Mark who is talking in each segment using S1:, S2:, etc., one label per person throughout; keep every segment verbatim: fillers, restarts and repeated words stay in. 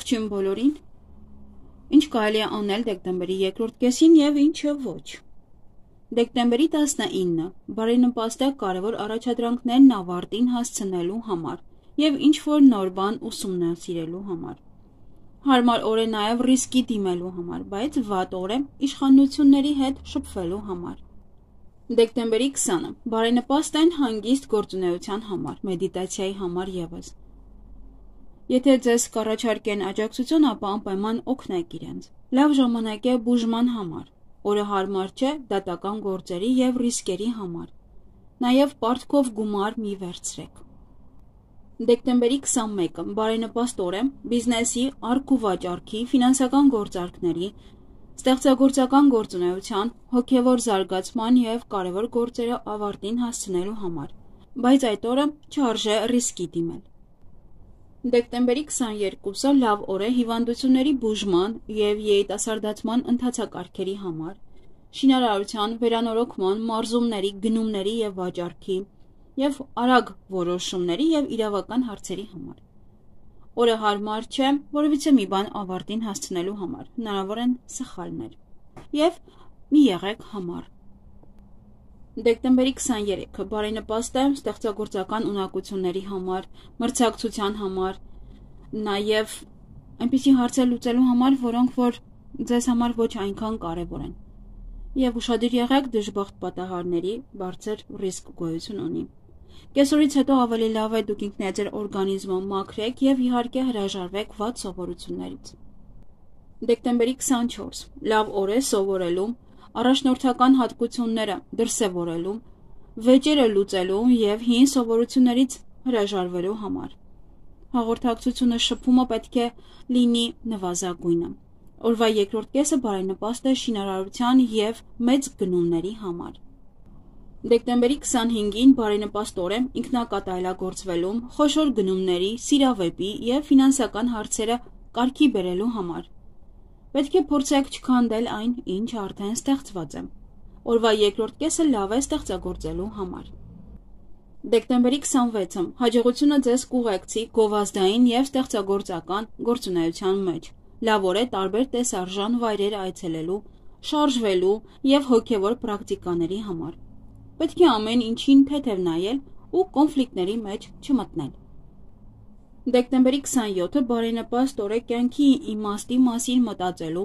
S1: Ողջույն բոլորին։ Ինչ կարելի է անել դեկտեմբերի երկրորդ կեսին եւ ինչը ոչ։ Դեկտեմբերի տասնինը բարենպաստ է կարևոր առաջադրանքներն ավարտին հասցնելու համար եւ ինչ որ նոր բան ուսումնասիրելու համար։ Հարմար օր է նաեւ ռիսկի դիմելու համար, բայց վատ օր է իշխանությունների հետ շփվելու համար։ Դեկտեմբերի քսանը բարենպաստ են հանգիստ գործունեության համար, մեդիտացիայի համար եւս։ Եթե ձեզ կառաջարկեն աջակցություն, ապա անպայման օգնեք իրենց։ Լավ ժամանակ է բուժման համար։ Օրը հարմար չէ դատական գործերի եւ ռիսկերի համար։ Նաեւ պարտքով գումար մի վերցրեք։ Դեկտեմբերի քսանմեկը բարենպաստ օր է բիզնեսի, առք ու վաճառքի, ֆինանսական գործարքների, ստեղծագործական գործունեության, հոգեվոր զարգացման եւ կարևոր գործերը ավարտին հասցնելու համար։ Բայց այդ օրը չարժե ռիսկի դիմել։ Դեկտեմբերի քսաներկուսը լավ օր է հիվանդությունների բուժման եւ երիտասարդացման ընթացակարգերի համար, շինարարության, վերանորոգման, մարզումների, գնումների եւ վաճառքի եւ արագ որոշումների եւ իրավական հարցերի համար։ Օրը հարմար չէ որևիցե մի բան ավարտին հասցնելու համար, հնարավոր են սխալներ եւ մի եղեք համառ։ Դեկտեմբերի քսաներեքը բարենպաստ է ստեղծագործական ունակությունների համար, մրցակցության համար, նաեւ այնպիսի հարցեր լուծելու համար, որոնք որ ձեզ համար ոչ այնքան կարեւոր են։ Եվ ուշադիր եղեք դժբախտ պատահարների, բարձր ռիսկ գոյություն ունի։ Կեսօրից հետո ավելի լավ է դուք ինքներդ ձեր օրգանիզմը մաքրեք եւ իհարկե հրաժարվեք վատ սովորություններից։ Դեկտեմբերի քսանչորս լավ օր է սովորելու, առաջնորդական հատկությունները դրսևորելու, վեճերը լուծելու եւ հին սովորություններից հրաժարվելու համար։ Հաղորդակցությունը շփումը պետք է լինի նվազագույնը։ Օրվա երկրորդ կեսը բարենպաստ է շինարարության եւ մեծ գնումների համար։ Դեկտեմբերի քսանհինգին բարենպաստ օր է ինքնակատալագործվելու, խոշոր գնումների, սիրավեպի եւ ֆինանսական հարցերը կարգի բերելու համար։ Պետք է փորձեք չքանդել այն, ինչ արդեն ստեղծված է։ Օրվա երկրորդ կեսը լավ է ստեղծագործելու համար։ Դեկտեմբերի քսանվեցը հաջողությունը ձեզ կուղեկցի գովազդային եւ ստեղծագործական գործունեության մեջ։ Լավ օր է տարբեր տեսարժան վայրեր այցելելու, շարժվելու եւ հոգեվոր պրակտիկաների համար։ Պետք է ամեն ինչին թեթև նայել ու կոնֆլիկտների մեջ չմտնել։ Դեկտեմբերի քսանյոթը բարենպաստ օր է կյանքի իմաստի մասին մտածելու,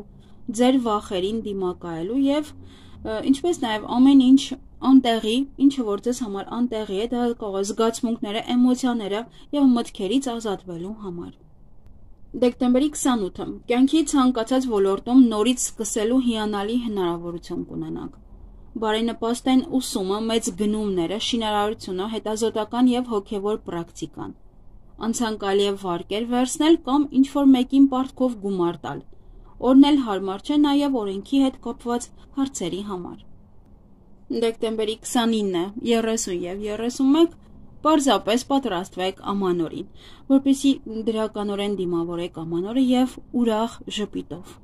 S1: ձեր վախերին դիմակայելու եւ ինչպես նաեւ ամեն ինչ անտեղի, ինչը որ ձեզ համար անտեղի է, դա կարող է զգացմունքները, էմոցիաները եւ մտքերից ազատվելու համար։ Դեկտեմբերի քսանութը կյանքի ցանկացած ոլորտում նորից սկսելու հիանալի հնարավորություն կունենաք։ Բարենպաստ են ուսումը, մեծ գնումները, շինարարությունը, հետազոտական եւ հոգեվոր պրակտիկան։ Անցանկալի է վարկեր վերցնել կամ ինչ-որ մեկին պարտքով գումար տալ։ Օրն էլ հարմար չէ նաեւ օրենքի հետ կապված հարցերի համար։ Դեկտեմբերի քսանինը, երեսուն եւ երեսունմեկ պարզապես պատրաստվեք ամանորին, որպեսզի դրականորեն դիմավորեք ամանորը եւ ուրախ ժպիտով։